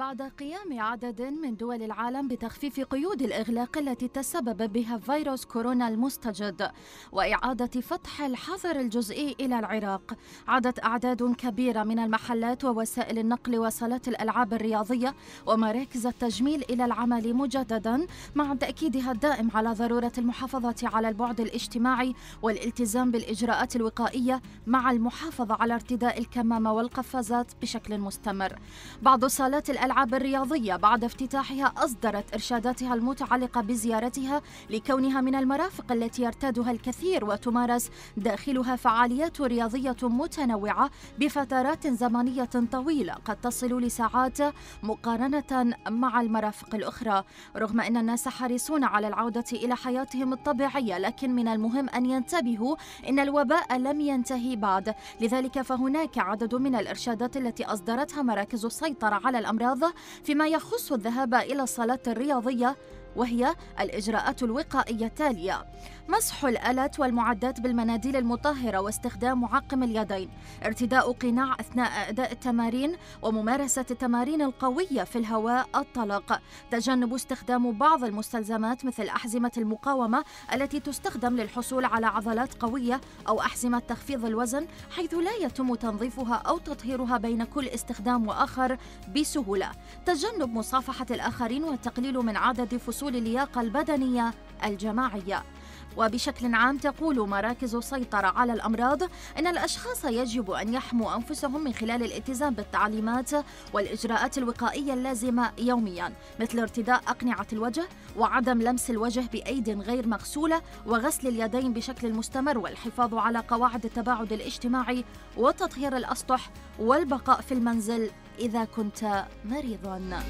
بعد قيام عدد من دول العالم بتخفيف قيود الإغلاق التي تسبب بها فيروس كورونا المستجد وإعادة فتح الحظر الجزئي إلى العراق، عادت أعداد كبيرة من المحلات ووسائل النقل وصالات الألعاب الرياضية ومراكز التجميل إلى العمل مجددا، مع تأكيدها الدائم على ضرورة المحافظة على البعد الاجتماعي والالتزام بالإجراءات الوقائية مع المحافظة على ارتداء الكمامة والقفازات بشكل مستمر. بعض صالات الألعاب الرياضية بعد افتتاحها أصدرت إرشاداتها المتعلقة بزيارتها لكونها من المرافق التي يرتادها الكثير وتمارس داخلها فعاليات رياضية متنوعة بفترات زمنية طويلة قد تصل لساعات مقارنة مع المرافق الأخرى. رغم أن الناس حريصون على العودة إلى حياتهم الطبيعية، لكن من المهم أن ينتبهوا أن الوباء لم ينتهي بعد، لذلك فهناك عدد من الإرشادات التي أصدرتها مراكز السيطرة على الأمراض فيما يخص الذهاب إلى الصالات الرياضية، وهي الإجراءات الوقائية التالية: مسح الآلات والمعدات بالمناديل المطهرة واستخدام معقم اليدين، ارتداء قناع أثناء أداء التمارين وممارسة التمارين القوية في الهواء الطلق، تجنب استخدام بعض المستلزمات مثل أحزمة المقاومة التي تستخدم للحصول على عضلات قوية أو أحزمة تخفيض الوزن حيث لا يتم تنظيفها أو تطهيرها بين كل استخدام وآخر بسهولة، تجنب مصافحة الآخرين والتقليل من عدد فصول اللياقة البدنية الجماعية. وبشكل عام تقول مراكز السيطرة على الأمراض إن الأشخاص يجب أن يحموا أنفسهم من خلال الالتزام بالتعليمات والإجراءات الوقائية اللازمة يومياً، مثل ارتداء أقنعة الوجه وعدم لمس الوجه بأيد غير مغسولة وغسل اليدين بشكل مستمر والحفاظ على قواعد التباعد الاجتماعي وتطهير الأسطح والبقاء في المنزل إذا كنت مريضاً.